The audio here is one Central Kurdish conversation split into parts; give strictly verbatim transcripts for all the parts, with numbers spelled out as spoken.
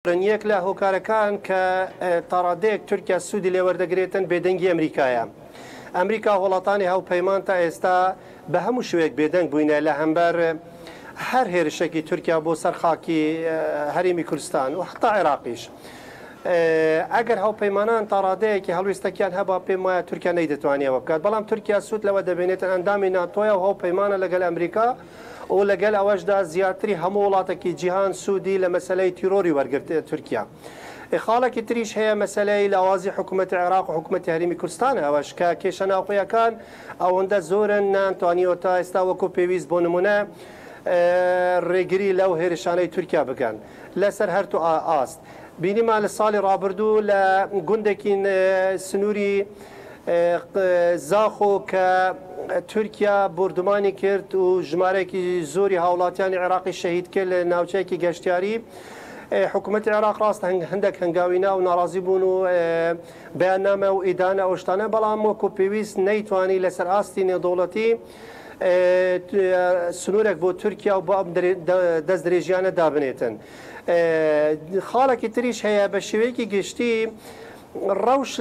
یەک لە هۆکارەکان کە تاڕادەیەک تورکیا سوودی لێوەردەگرێتن بێدەنگی ئەمریکایە. ئەمریکا وڵاتانی هاوپەیمان تا ئێستا بە هەموو شوێک بێدەنگ بووینە لە هەمبەر هەر هێرشێکی تورکیا بۆ سەر خاکی هەرێمی کوردستان و حتا عێراقیش. ئەگەر هاوپەیمانان تاڕادەیەکی هەڵوێستەکیان هەبا پێم وایە تورکیا نەیدەتوانیەوە بکات، بەڵام تورکیا سوود لەوە دەبێنێتن ئەندامی ناتۆیە و هاوپەیمانە لەگەڵ ئەمریکا و لەگەڵ ئەوەشدا زیاتری هەموو وڵاتێکی جیهان سوودی لە مەسلەی تیرۆری وەرگرت تورکیا. خاڵێکی تریش هەیە مەسلەی لاوازی حکوومەتی عێراق و حکوومەتی هەرێمی کوردستان، ئەوەش کە کێشە ناوخۆیەکان ئەوەندە زۆرن نانتوانیەوە تا ئێستا وەکو پێویست بۆ نمونە ڕێگری لەو هێرشانەی تورکیا بکەن لەسەر هەر دوو ئاست. بینیمان لە ساڵی ڕابردوو لە گوندێکی سنووری زاخۆ کە تورکیا بردومانی کرد و ژمارەیەکی زۆری هاوڵاتیانی عێراقی شەهید کرد لە ناوچەیەکی گەشتیاری. حکوومەتی عێراق ڕاست هەندێک هەنگاوینا و ناڕازی بوون و بەیاننامە و ئیدانە ئەو شتانە، بەڵام وەکو پێویست نەیتوانی لەسەر ئاستی نێودەوڵەتی سنوورێک بۆ تورکیا و بۆ ئەم دەست درێژیانە دابنێتن. خاڵێکی تریش هەیە بە شێوەیەکی گشتی ڕەوش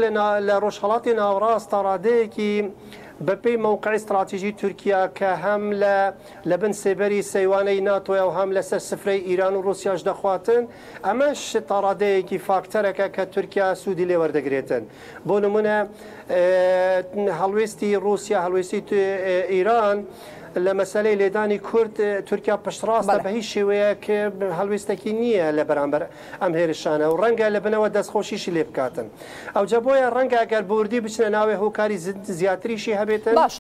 لە ڕۆژهەڵاتی ناوەڕاست تا ڕادەیەکی بەپێی مەوقعی استراتیژی تورکیا کە هەم لە بن سێبەری سەیوانەی ناتۆیە و هەم لەسەر سفرەی ئیران و ڕوسیاش دەخواتن، ئەمەش تا ڕادەیەکی فاکتەرەکە کە تورکیا سوودی لێوەردەگرێتن. بۆ نمونە هەڵوێستی ڕوسیا، هەڵوێستی ئیران لە مەسلەی لێدانی کورد تورکیا پشتڕاستە بە هیچ شێوەیەک هەڵوێستێکی نییە لە بەرامبەر ئەم هێرشانە و ڕەنگە لە بنەوە دەستخۆشیشی لێ بکاتن. ئەوجا بۆیە ڕەنگە ئەگەر بوردی بچنە ناوێ هۆکاری زیاتریشی هەبێتن. باش.